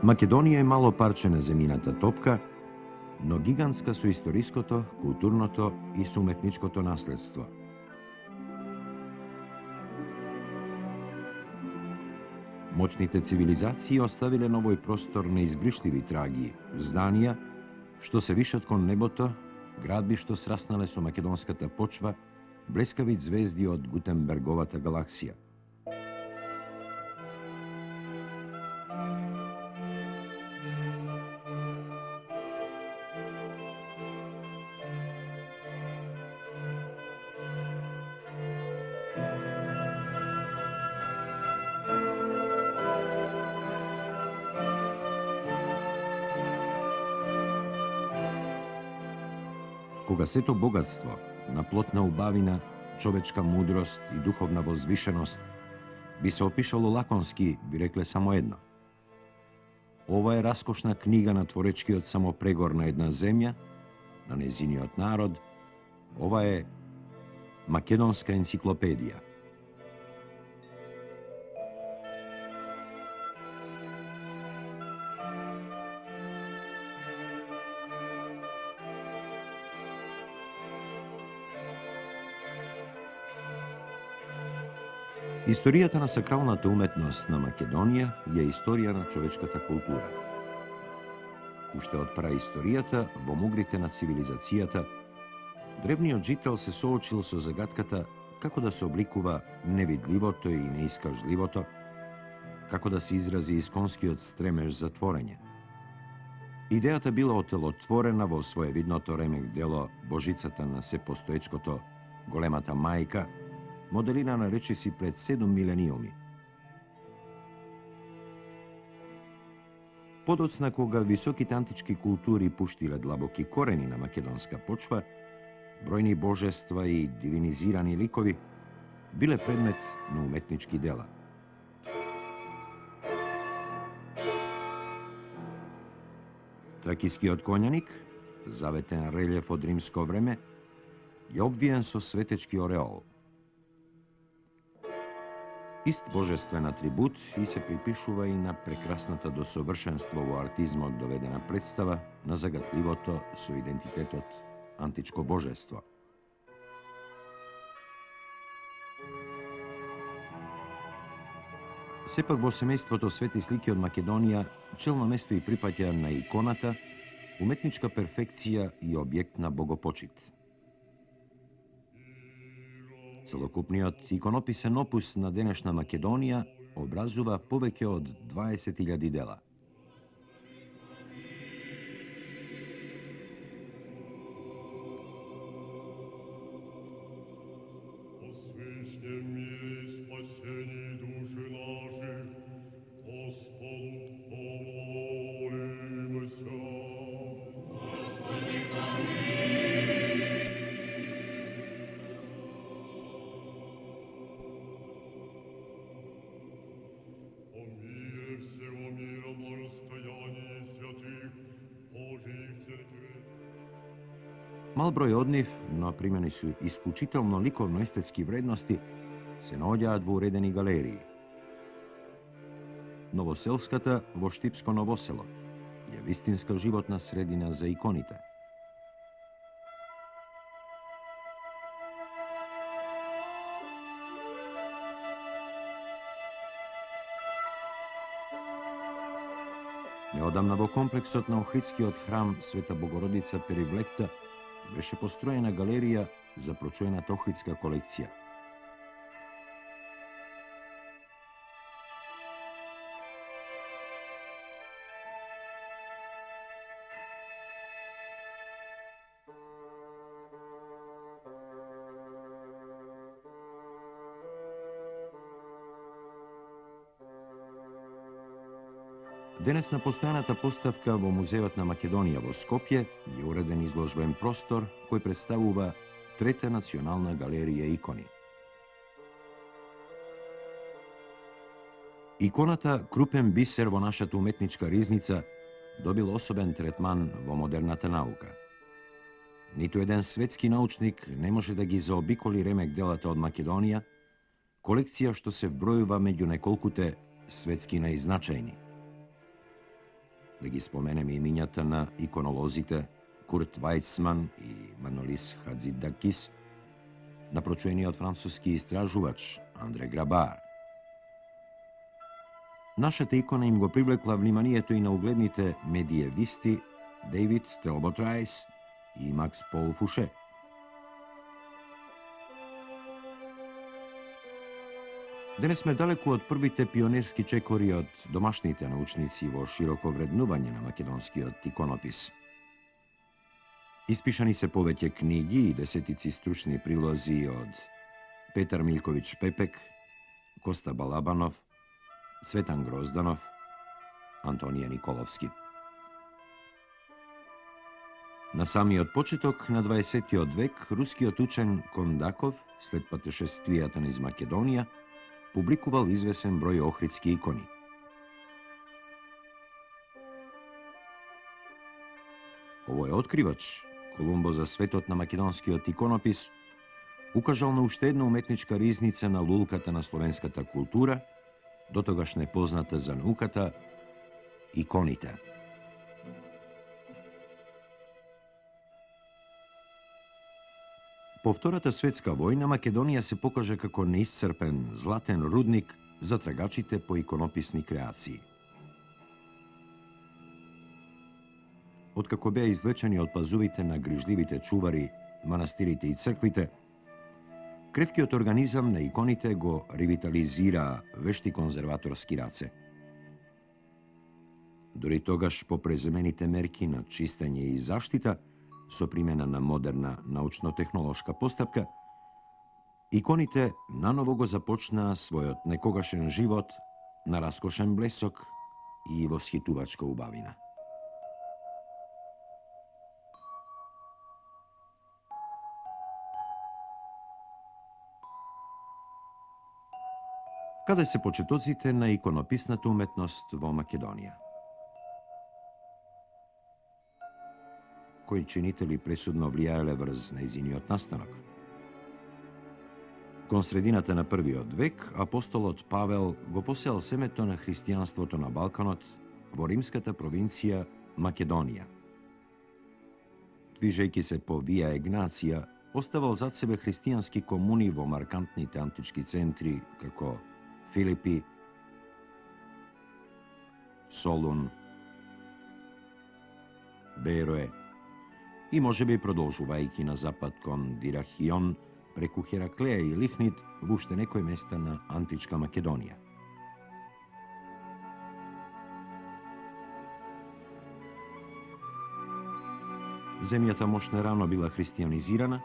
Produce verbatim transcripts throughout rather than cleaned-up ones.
Македонија е мало парче на земјината топка, но гигантска со историското, културното и суметничкото наследство. Моćните цивилизации оставиле на овој простор неизбришливи траги, зданија, што се вишат кон небото, градби што сраснале со македонската почва, блескави звезди од Гутенберговата галаксија. Кога сето богатство, на плотна убавина, човечка мудрост и духовна возвишеност би се опишало лаконски, би рекле само едно. Ова е раскошна книга на творечкиот самопрегор на една земја, на незиниот народ. Ова е македонска енциклопедија. Историјата на сакралната уметност на Македонија е историја на човечката култура. Уште од праисторијата, во мугрите на цивилизацијата, древниот жител се соочил со загадката како да се обликува невидливото и неискажливото, како да се изрази исконскиот стремеж за творење. Идејата била отелотворена во своевидното ремек дело Божицата на сепостоечкото, големата мајка, моделирана речиси пред седум милениуми. Подоцна, кога високите антички култури пуштиле длабоки корени на македонска почва, бројни божества и дивинизирани ликови биле предмет на уметнички дела. Тракискиот конјаник, заветен релјеф од римско време, е обвиен со светечки ореол. Ист божествен атрибут и се припишува и на прекрасната до совршенство во артизмот доведена представа на загатливото со идентитетот античко божество. Сепак во семејството свети слики од Македонија челно место и припаѓа на иконата, уметничка перфекција и објект на богопочит. Целокупниот иконописен опус на денешна Македонија образува повеќе од дваесет илјади дела. Мал број од нив, но примени со исклучително ликовно-естетски вредности, се наоѓаат во уредени галерии. Новоселската во Штипско Новосело е вистинска животна средина за иконите. Неодамна во комплексот на Охридскиот храм Света Богородица Перивлекта беше построена галерија за прочуената Охридска колекција. Денес на постојаната поставка во Музеот на Македонија во Скопје е уреден изложбен простор кој представува Трета национална галерија икони. Иконата, крупен бисер во нашата уметничка ризница, добил особен третман во модерната наука. Ниту еден светски научник не може да ги заобиколи ремек делата од Македонија, колекција што се вбројува меѓу неколкуте светски наизначајни. Да ги споменеме имињата на иконолозите Курт Вајцман и Манолис Хадзидакис, на прочуениот француски истражувач Андре Грабар. Нашата икона им го привлекла вниманието и на угледните медиевисти Дейвид Телбот Рајс и Макс Пол Фуше. Денес сме далеку од првите пионерски чекори од домашните научници во широко вреднување на македонскиот иконопис. Испишани се повеќе книги и десетици стручни прилози од Петар Милковиќ Пепек, Коста Балабанов, Цветан Грозданов, Антонија Николовски. На самиот почеток на дваесеттиот век, рускиот учен Кондаков, след патешествијата низ Македонија, публикувал извесен број охридски икони. Овој откривач, Колумбо за светот на македонскиот иконопис, укажал на уште една уметничка ризница на лулката на словенската култура, дотогаш непозната за науката, иконите. По Втората светска војна Македонија се покажа како неисцрпен златен рудник за трагачите по иконописни креации. Откако беа извлечени од пазувите на грижливите чувари, манастирите и црквите, кревкиот организам на иконите го ревитализираа вешти конзерваторски раце. Дори тогаш по преземените мерки на чистење и заштита, со примена на модерна научно-технолошка постапка, иконите наново го започнаа својот некогашен живот на раскошен блесок и восхитувачка убавина. Каде се почетоците на иконописната уметност во Македонија? Кои чинители пресудно влијаеле врз нејзиниот настанок? Кон средината на првиот век, апостолот Павел го посеал семето на христијанството на Балканот во римската провинција Македонија. Движејќи се по Вија Егнација, оставал зад себе христијански комуни во маркантните антички центри како Филипи, Солун, Берое и можеби продолжувајќи на запад кон Дирахион, преку Хераклеја и Лихнид во уште некои места на античка Македонија. Земјата мошне рано била христијанизирана,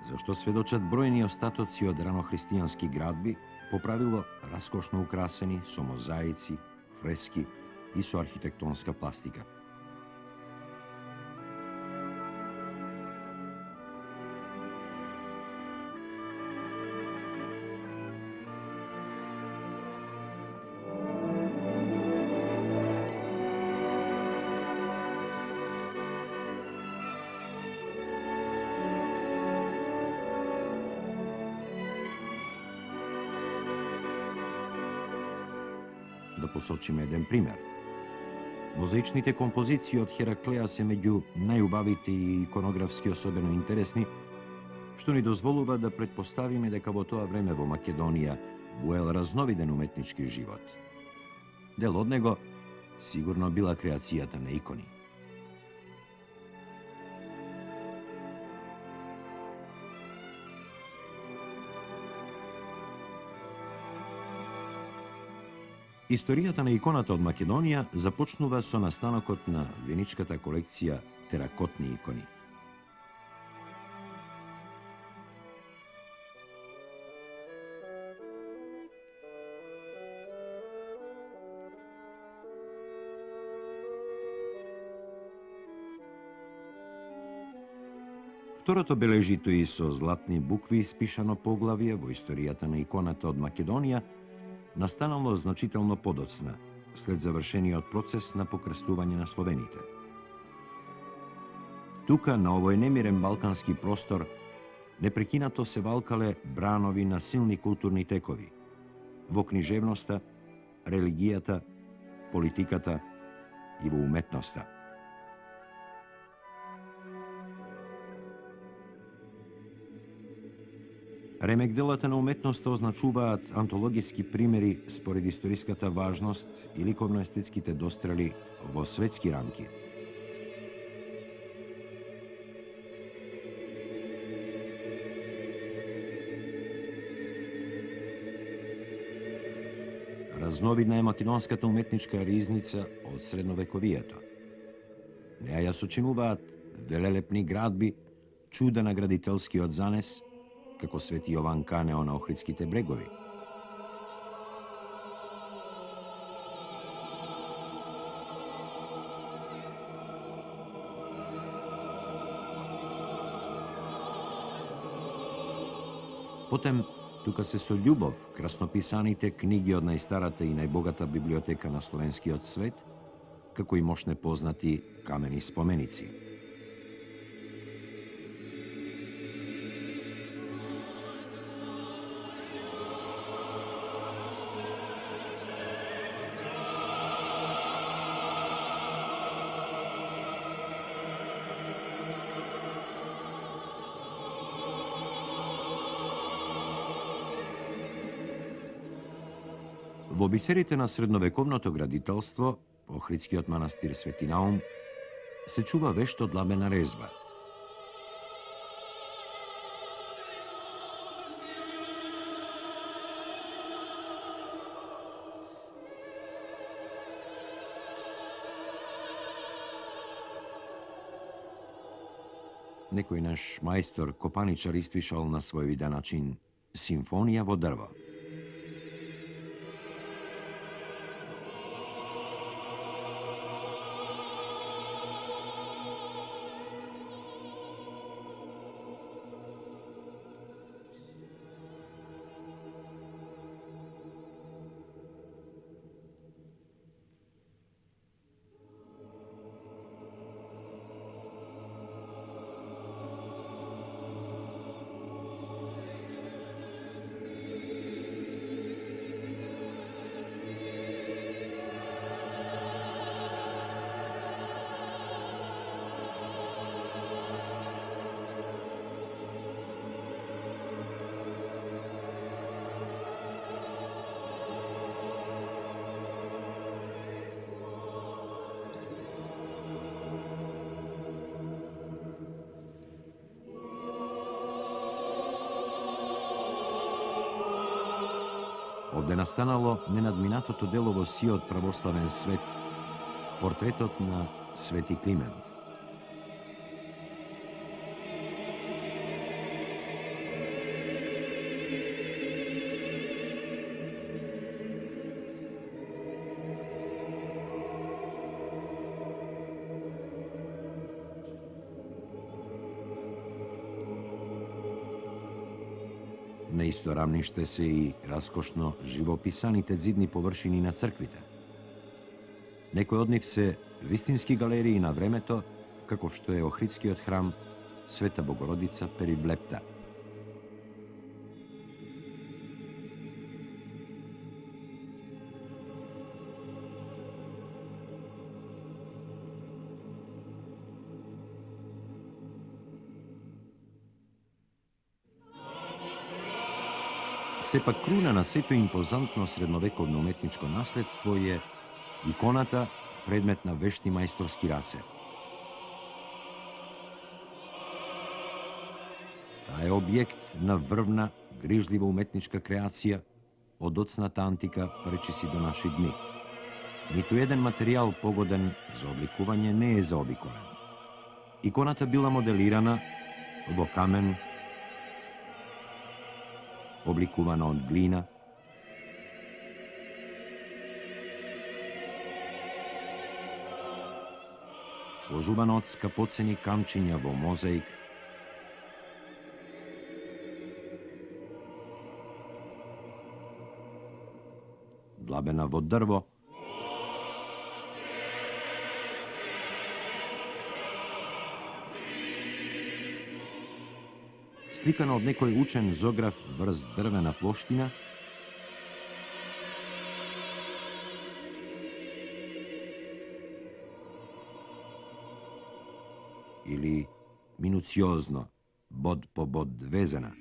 зашто сведочат бројни остатоци од ранохристијански градби, по правило раскошно украсени со мозаици, фрески и со архитектонска пластика. Да посочиме еден пример. Мозаичните композиции од Хераклеја се меѓу најубавите и иконографски особено интересни, што ни дозволува да претпоставиме дека во тоа време во Македонија буел разновиден уметнички живот. Дел од него сигурно била креацијата на икони. Историјата на иконата од Македонија започнува со настанокот на веничката колекција теракотни икони. Второто бележито и со златни букви испишано поглавје во историјата на иконата од Македонија настанало значително подоцна, след завршениот процес на покрстување на словените. Тука, на овој немирен балкански простор, непрекинато се валкале бранови на силни културни текови, во книжевноста, религијата, политиката, и во уметноста. Ремек-делата на уметноста означуваат антологиски примери според историската важност и ликовно-естетските дострели во светски рамки. Разновидна е македонската уметничка ризница од средновековието. Неа ја сочинуваат велелепни градби, чуда на градителскиот занес, како Свети Јован Канео на Охридските брегови. Потем, тука се со љубов краснописаните книги од најстарата и најбогата библиотека на словенскиот свет, како и мошне познати камени споменици. Во бисерите на средновековното градителство, Охридскиот манастир Свети Наум, се чува вешто длабена резба. Некој наш мајстор копаничар испишал на свој виден начин симфонија во дрво. Овде настанало ненадминатото дело во сиот православен свет, портретот на Свети Климент. На исто рамниште се и раскошно живописаните ѕидни површини на црквите. Некои од нив се вистински галерии на времето, каков што е Охридскиот храм Света Богородица Перивлепта. Сепак круна на сето импозантно средновековно уметничко наследство е иконата, предмет на вешти мајсторски раце. Таа е објект на врвна, грижлива уметничка креација од доцната антика пречиси до наши дни. Ниту еден материјал погоден за обликување не е заобиколен. Иконата била моделирана во камен, обликувана од глина, сложувана од скапоцени камчиња во мозаик, длабена во дрво, сликана од некој учен зограф врз дрвена плоштина, или минуциозно, бод по бод везена.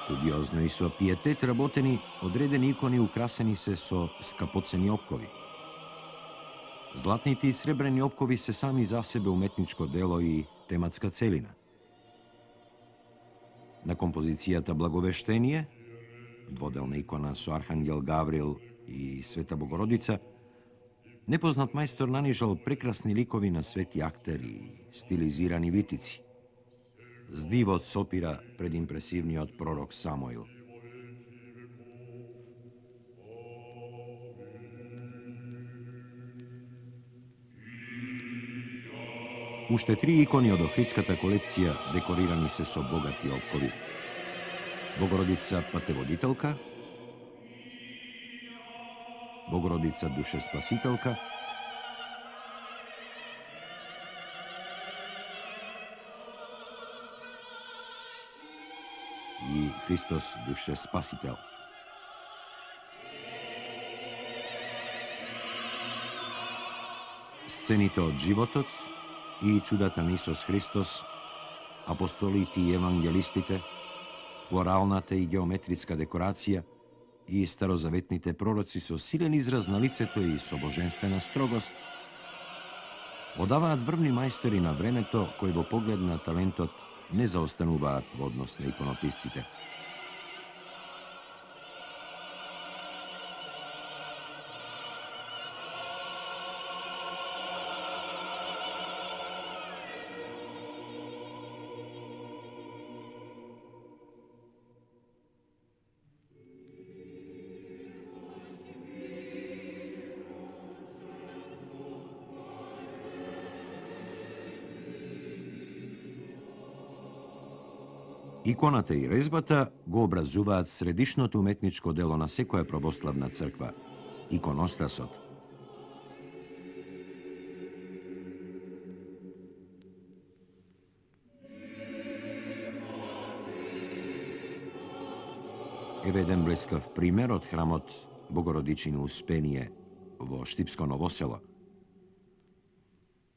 Студиозно и со пиетет работени, одредени икони украсени се со скапоцени опкови. Златните и сребрени опкови се сами за себе уметничко дело и тематска целина. На композицијата Благовештение, дводелна икона со Архангел Гаврил и Света Богородица, непознат мајстор нанижал прекрасни ликови на свети актери и стилизирани витици. С дивот сопира пред импресивниот пророк Самуил. Уште три икони од Охридската колекција декорирани се со богати опкови. Богородица Патеводителка, Богородица Душеспасителка, и Христос Душеспасител. Сцените од животот и чудата на Исус Христос, апостолите и евангелистите, флоралната и геометриска декорација и старозаветните пророци со силен израз на лицето и со божествена строгост, одаваат врвни мајстори на времето кои во поглед на талентот не заостануваат во однос на иконописците. Иконата и резбата го образуваат средишното уметничко дело на секоја православна црква – иконостасот. Еве еден блескав пример од храмот Богородичино Успение во Штипско Ново село.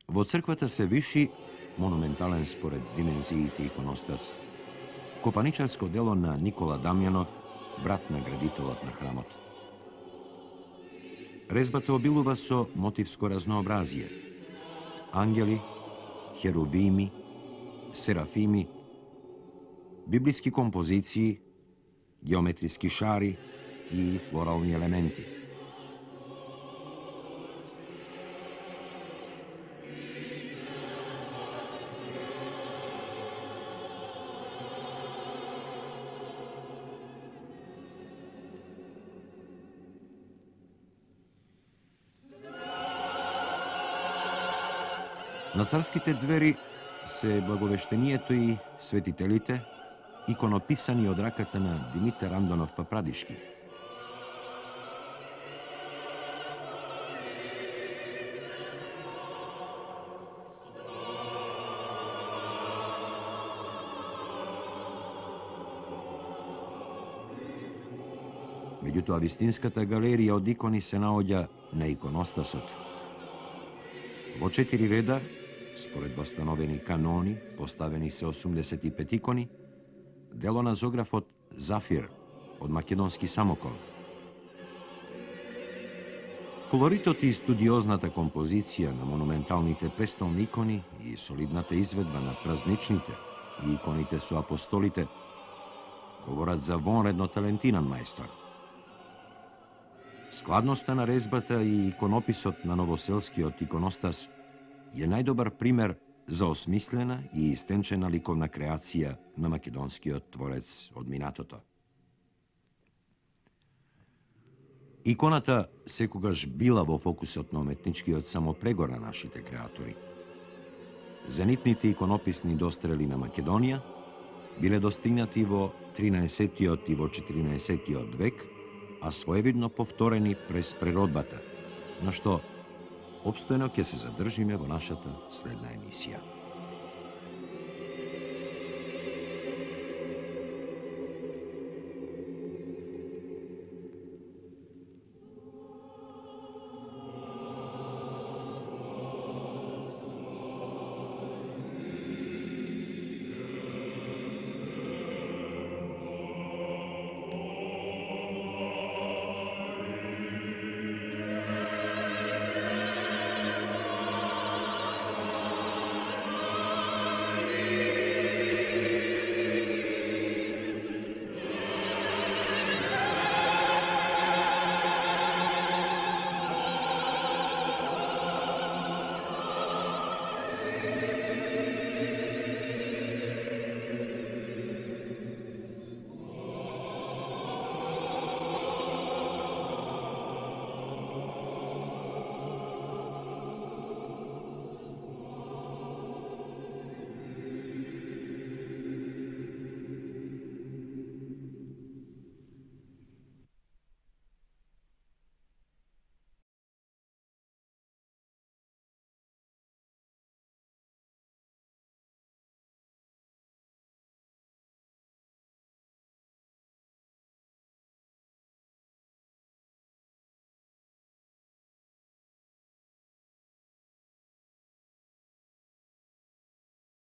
Во црквата се виши, монументален според димензиите иконостас, копаничарско дело на Никола Дамјанов, брат на градителот на храмот. Резбата обилува со мотивско разнообразие. Ангели, херувими, серафими, библиски композиции, геометриски шари и флорални елементи. На царските двери се Благовештението и светителите, иконописани од раката на Димитар Андонов Папрадишки. Меѓутоа, вистинската галерија од икони се наоѓа на иконостасот. Во четири реда, според восстановени канони, поставени се осумдесет и пет икони, дело на зографот Зафир од македонски Самоков. Колоритот и студиозната композиција на монументалните престолни икони и солидната изведба на празничните и иконите со апостолите говорат за вонредно талентиран мајстор. Складноста на резбата и иконописот на новоселскиот иконостас е најдобар пример за осмислена и истенчена ликовна креација на македонскиот творец од минатото. Иконата секогаш била во фокусот на уметничкиот самопрегор на нашите креатори. Зенитните иконописни дострели на Македонија биле достигнати во тринаесеттиот и во четиринаесеттиот век, а своевидно повторени през преродбата, на што обстојно ќе се задржиме во нашата следна емисија.